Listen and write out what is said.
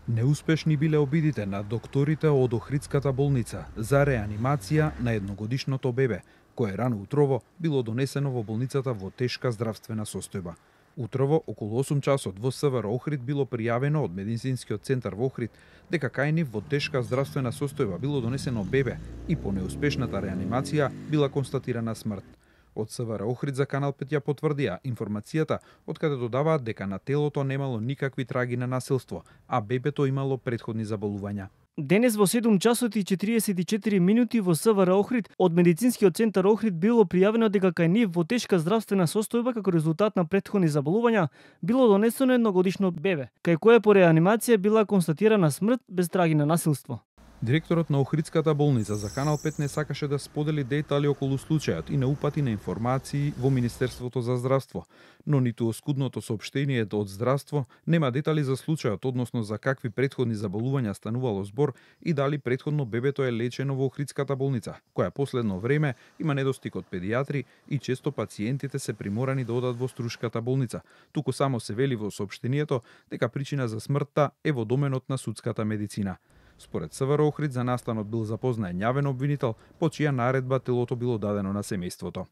Неуспешни биле обидите на докторите од Охридската болница за реанимација на едногодишното бебе, кое рано утрово било донесено во болницата во тешка здравствена состојба. Утрово, околу 8 часот во СВР Охрид било пријавено од медицинскиот центар во Охрид дека кај нив во тешка здравствена состојба било донесено бебе и по неуспешната реанимација била констатирана смрт. Од СВР Охрид за Канал 5 ја потврдија информацијата, од каде додаваат дека на телото немало никакви траги на насилство, а бебето имало претходни заболувања. Денес во 7 часот и 44 минути во СВР Охрид од медицинскиот центар Охрид било пријавено дека кај нив во тешка здравствена состојба како резултат на претходни заболувања било донесено едногодишно бебе, кај кое по реанимација била констатирана смрт без траги на насилство. Директорот на Охридската болница за Канал 5 не сакаше да сподели дејтали околу случајот и не упати на информации во Министерството за здравство, но ниту оскудното соопштението од здравство нема детали за случајот, односно за какви претходни заболувања станувало збор и дали претходно бебето е лечено во Охридската болница, која последно време има недостиг од педијатри и често пациентите се приморани да одат во Струшката болница. Туку само се вели во соопштението дека причина за смртта е во доменот на судската медицина. Според СВР Охрид за настанот бил запознаен јавен обвинител, по чија наредба телото било дадено на семејството.